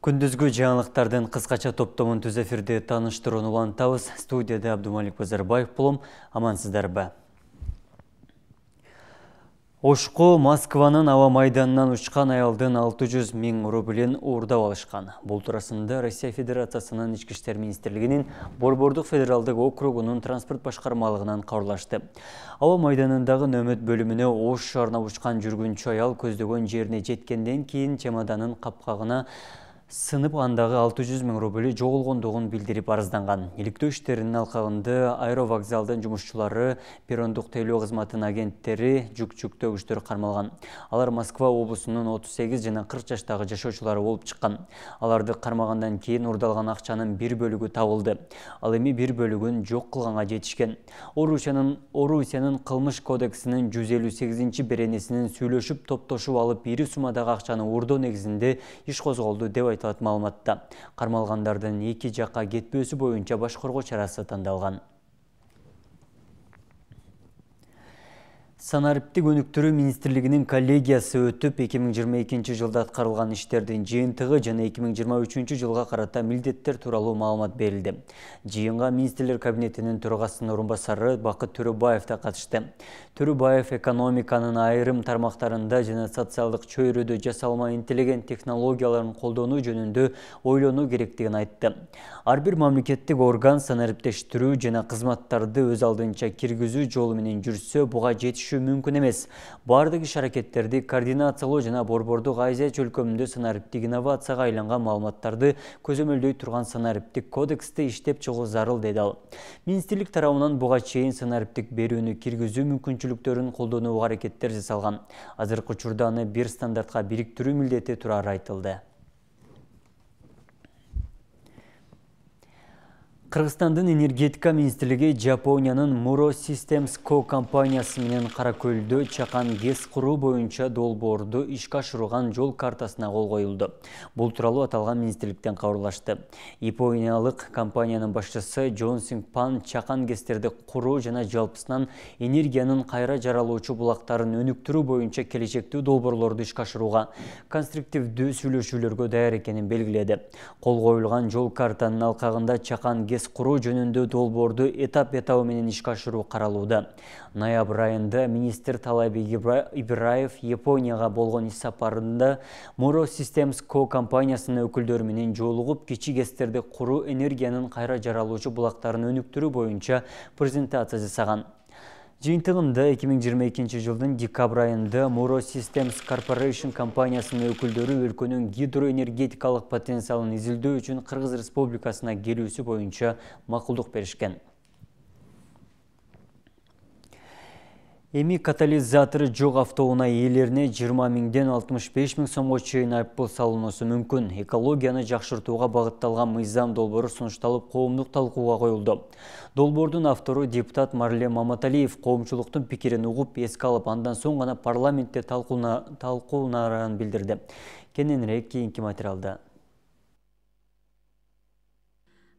Күндүзгү жаңылыктардын кыскача топтомун түз эфирде тааныштырууну улантабыз. Студияда Абдумалик Базарбаев болом. Амансыздарбы? Ошко Москванын аба майданынан учкан аялдын 600 000 рублин уурдап алышкан. Бул туурасында Россия Федерациясынын Ички иштер министрлигинин Борбордук федералдык округунун транспорт башкармалыгынан кабарлашты. Аба майданындагы нөмөт бөлүмүнө Ош шаарына учкан жүргүнчү аял көздөгөн жерине жеткенден кийин чемоданын капкагына сынып андагы 600 000 рубли жоголгондугун билдирип арызданган. Иликтөө иштеринин алкагында аэровокзалдын жумушчулары, перрондук тейлөө кызматынын агенттери, жүк-төгүчтөр кармалган. Алар Москва облусунун 38 жана 40 жаштагы жашоочулары болуп чыккан. Аларды кармагандан кийин урдалган акчанын бир бөлүгү табылды. Ал эми бир бөлүгүн жок кылганга жетишкен. Орусиянын кылмыш кодексинин 158-беренесинин сүйлөшүп топтошуп алып ири суммадагы акчаны уурдоо негизинде иш козголду деп айтылат маалыматта. Кармалгандардын эки жакка кетпөөсү боюнча баш коргоо чарасы тандалган. Санариптик өнүктүрүү министрлигинин коллегиясы өтүп, 2022 жылда аткарылган иштердин жыйынтыгы жана 2023 жылга карата милдеттер тууралуу маалымат берилди. Жыйынга министрлер кабинетинин төрагасынын орун басары Бакыт Төрөбаев да катышты. Төрөбаев экономиканын айрым тармактарында жана социалдык чөйрөдө жасалма интеллигент технологияларын колдонуу жөнүндө ойлонуу керектигин айтты. Ар бир мамлекеттик орган санариптештирүү жана кызматтарды өз алдынча киргизүү жолу менен жүрсө, буга жетишүү мүмкүн эмес. Бардык иш-аракеттерди координациялоо жана Борбордук Азия чөлкөмүндө санариптик инновацияга айланган маалыматтарды көзөмөлдөй турган санариптик кодексти иштеп чыгуу зарыл, деди ал. Министрлик тарабынан буга чейин санариптик берүүнү киргизүү мүмкүнчүлүктөрүн колдонууга аракеттер жасалган. Азыркы учурда аны бир стандартка бириктирүү милдети турары айтылды. Кыргызстандын энергетика министрлиги Жапониянын Muro Systems Co компаниясы менен Кара-Көлдө чакан ГЭС куруу боюнча долбоорду ишке ашырган жол картасына кол коюлду. Бул тууралуу аталган министрликтен кабарлашты. Япониялык компаниянын башчысы Джон Синг Пан чакан ГЭСтерди куруу жана жалпысынан энергиянын кайра жаралуучу булактарын өнүктүрүү боюнча келечектүү долбоорлорду ишке ашырууга конструктивдүү сүйлөшүүлөргө даяр экенин белгиледи. Кол коюлган жол картанын алкагында чакан ГЭС куруу жөнүндө долбоорду этап-этабы менен ишке ашыруу каралууда. Ноябрь айында министр Талайбек Ибраев Японияга болгон иш сапарында Muro Systems Co компаниясынын өкүлдөрү менен жолугуп, кичи ГЭСтерди куруу, энергиянын кайра жаралуучу булактарын өнүктүрүү боюнча презентация жасаган. Жыйынтыгында 2022 жылдын декабрь айында Muro Systems Corporation компаниясынын өкүлдөрү өлкөнүн гидроэнергетикалык потенциалын изилдөө үчүн Кыргыз Республикасына келүүсү боюнча макулдук беришкен. Эми катализатору жок автоунаа ээлерине 20 000ден 65 000 сомго чейин айыппул салынуусу мүмкүн. Экологияны жакшыртууга багытталган мыйзам долбоору сунушталып, коомдук талкууга коюлду. Долбоордун автору депутат Марлен Маматалиев коомчулуктун пикирин угуп, эске алып, андан соң гана парламентте талкуунарын билдирди. Кененирээк кийинки материалда.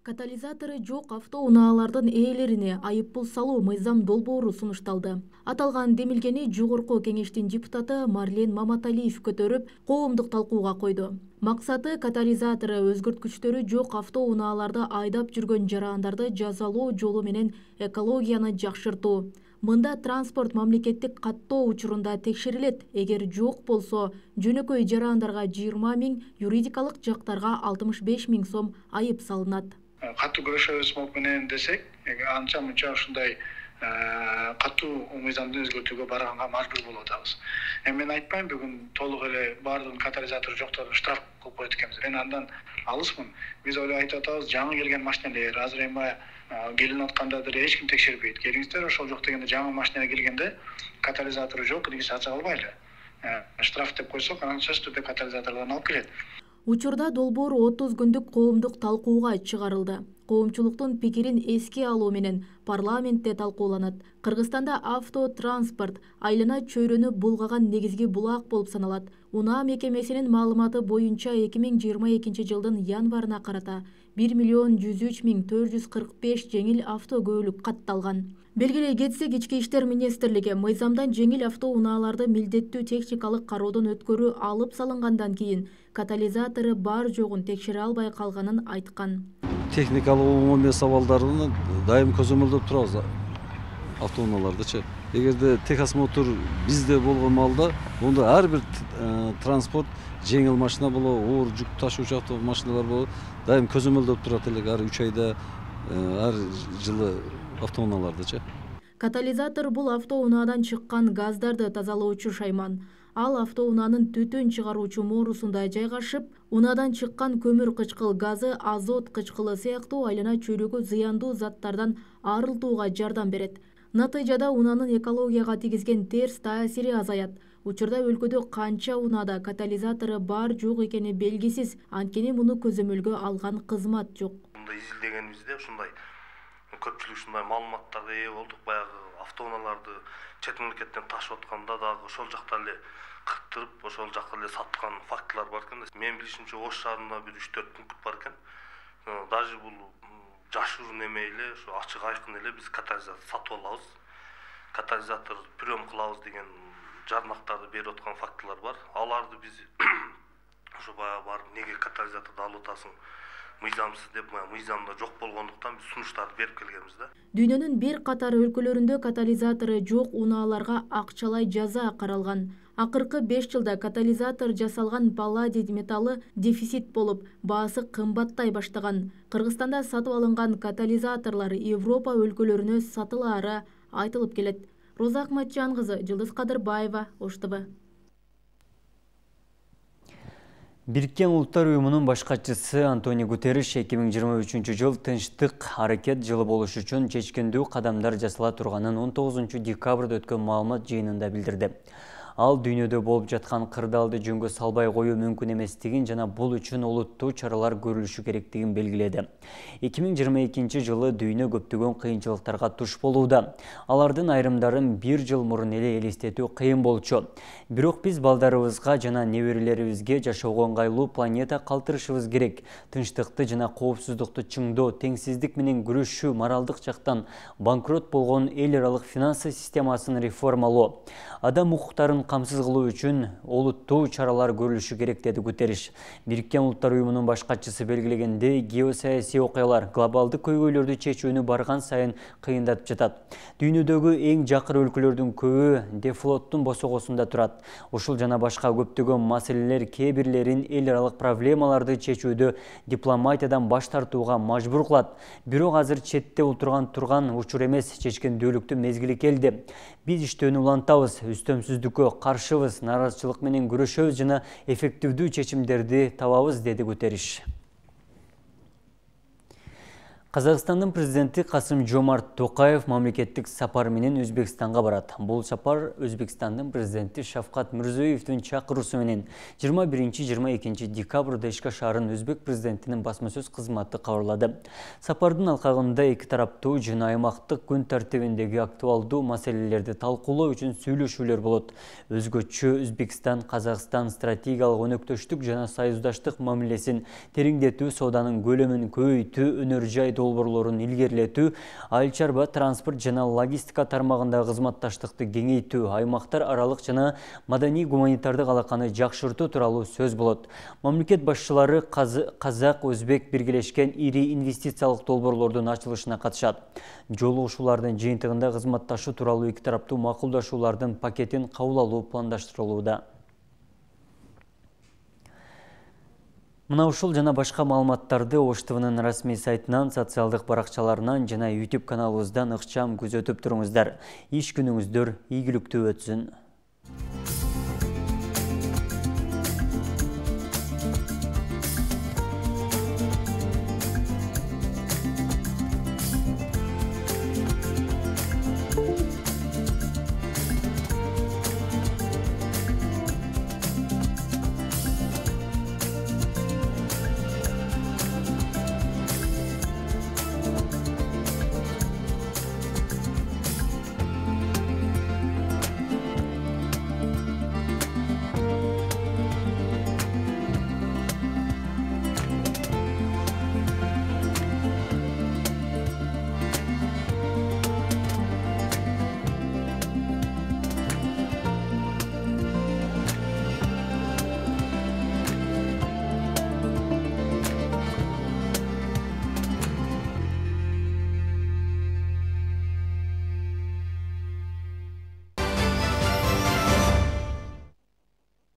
Катализатору жок автоунаалардын ээлерине айыппул салуу мыйзам долбоору сунушталды. Аталган демилгени жогорку кеңештин депутаты Марлен Маматалиев көтөрүп, коомдук талкууга койду. Максаты катализатору өзгөрткүчтөрү жок автоунааларды айдап жүргөн жарандарды жазалоо жолу менен экологияны жакшыртуу. Мында транспорт мамлекеттик каттоо учурунда текшерилет. Эгер жок болсо, жөнөкөй жарандарга 20 000, юридикалык жактарга 65 000 сом айып салынат. Катуу күрөшөбүз менен десек, анча мынча ушундай катуу мыйзамды өзгөртүүгө барганга мажбур болуп атабыз. Мен айтпайм, бүгүн толук эле баардыгын катализатору жокторун штраф кылып коет экенбиз. Мен андан алысмын. Биз айтып атабыз, жаңы келген машинелер, азыр эми келип аткандыр, эч ким текшербейт. Келиңиздер, ошол жок дегенде жаңы машина келгенде катализатору жок, киргиз ача албайлы. Штраф деп койсок, анан сөзсүз түрдө катализаторлорун алып келет. Учурда долбоор 30 күндүк коомдук талкууга чыгарылды. коомчулуктун пикирин эске алуу менен парламентте талкууланат. Кыргызстанда автотранспорт айлана чөйрөнү булгаган негизги булак болуп саналат. Унаа мекемесинин маалыматы боюнча 2022 жылдын январына карата 1.103.445 жеңил автокөлүк катталган. Белгилей кетсек, Ички иштер министрлиги мыйзамдан жеңил автоунааларды милдеттүү техникалык кароодон өткөрүү алып салынгандан кийин катализатору бар жогун текшере албай калганын айткан. Техникалык умумий сабалдарын дайым көзөмөлдөп турабыз автоунаалардычы. Эгерде техосмотр бизде болгон маалда, онда ар бир транспорт, жеңил машина болобу, оор жүк ташуучу машиналар болобу, дайым көзөмөлдөп турат элек ар 3 айда, ар жылы автоунаалардычы. Катализатор бул автоунаадан чыккан газдарды тазалоочу шайман. Ал автоунаанын түтүн чыгаруучу моорусунда жайгашып, унаадан чыккан көмүр кычкыл газы, азот кычкылы сыяктуу айлана чөйрөгө зыяндуу заттардан арылтууга жардам берет. Натыйжада унаанын экологияга тийгизген терс таасири азаят. Учурда өлкөдө канча унаада катализатору бар жок экени белгисиз, анткени муну көзөмөлгө алган кызмат жок. Изилдегенибизде ушундай көпчүлүк ушундай маалыматтарга ээ болдук. Баягы автоунааларды чет мамлекеттен ташып атканда дагы ошол жакта эле кырктырып, ошол жакка эле саткан фактылар бар экен. Мен билишимче Ош шаарында бир 3-4 пункт бар экен. Даже бул жашыруун эме эле, ушу ачык айкын эле биз катализатор сатып алабыз. Катализатор прием кылабыз деген жарнактарды берип аткан фактылар бар. Аларды биз ошо баягы барып неге катализаторду алып атасың? Мыйзамсыз деп, мыйзамда жок болгондуктан биз сунуштарды берип келгенбиз да. Дүйнөнүн бир катар өлкөлөрүндө катализатору жок унааларга акчалай жаза каралган. Акыркы 5 жылда катализатор жасалган палладий металлы дефицит болуп, баасы кымбаттай баштаган. Кыргызстанда сатып алынган катализаторлор Европа өлкөлөрүнө сатылаары айтылып келет. Роза Акматжан кызы, Жылдыз Кадырбаева, Ош ТВ. Бириккен Улуттар уюмунун баш катчысы Антонио Гутерриш 2023 жыл тынчтык аракет жылы болуш үчүн чечкиндүү кадамдар жасала турганын 19 декабрда өткөн маалымат жыйынында билдирди. Ал дүйнөдө болуп жаткан кырдаалды жөнгө салбай коюу мүмкүн эместигин жана бул үчүн олуттуу чаралар көрүлүшү керектигин белгиледи. 2022 жылы дүйнө көптөгөн кыйынчылыктарга туш болууда. Алардын айрымдарын 1 жыл мурун эле элестетүү кыйын болчу. Бирок биз балдарыбызга жана неберелерибизге жашоого ыңгайлуу планета калтырышыбыз керек. Тынчтыкты жана коопсуздукту чыңдоо, теңсиздик менен күрөшүү, моралдык жактан банкрот болгон эл аралык финансы системасын реформалоо, адам укуктарын камсыз кылуу үчүн олуттуу чаралар көрүлүшү керек, деди Гутерриш. Бириккен Улуттар уюмунун баш катчысы белгилегендей, геосаясий окуялар глобалдык көйгөйлөрдү чечүүнү барган сайын кыйындатып жатат. Дүйнөдөгү эң жакыр өлкөлөрдүн көбү дефлоттун босогосунда турат. Ушул жана башка көптөгөн маселелер кээ бирлерин эл аралык проблемаларды чечүүдө дипломатиядан баш тартууга мажбур кылат. Бирок азыр четте турган учур эмес, чечкиндүүлүктүн мезгили келди. Биз иштөөнү улантабыз, үстөмсүздүккө каршыбыз, наразычылык менен күрөшөбүз жана эффективдүү чечимдерди табабыз, деди Гутерриш. Казакстандын президенти Касым-Жомарт Токаев мамлекеттик сапар менен Өзбекстанга барат. Бул сапар Өзбекстандын президенти Шавкат Мирзиёевдин чакыруусу менен 21-22 декабрда Ишка шаарын өзбек президентинин басма сөз кызматы кабарлады. Сапардын алкагында эки тараптуу жана аймактык күн тартибиндеги актуалдуу маселелерди талкуулоо үчүн сүйлөшүүлөр болот. Өзгөчө Өзбекстан Казакстан стратегиялык өнөктөштүк жана союздаштык мамилесин тереңдетүү, сооданын көлөмүн көбөйтүү, өнөр жай долбоорлорун илгерилетүү, айыл чарба, транспорт жана логистика тармагындагы кызматташтыкты кеңейтүү, аймактар аралык жана маданий гуманитардык алаканы жакшыртуу тууралуу сөз болот. Мамлекет башчылары казак-өзбек биргелешкен ири инвестициялык долбоорлордун ачылышына катышат. Жолугушуулардын жыйынтыгында кызматташуу тууралуу эки тараптуу макулдашуулардын пакетин кабыл алуу пландаштырылууда. Мына ушул жана башка маалыматтарды Ош ТВнын расмий сайтынан, социалдык баракчаларынан жана YouTube каналыбыздан ыкчам күзөтүп туруңуздар. Иш күнүңүздөр ийгиликтүү өтсүн.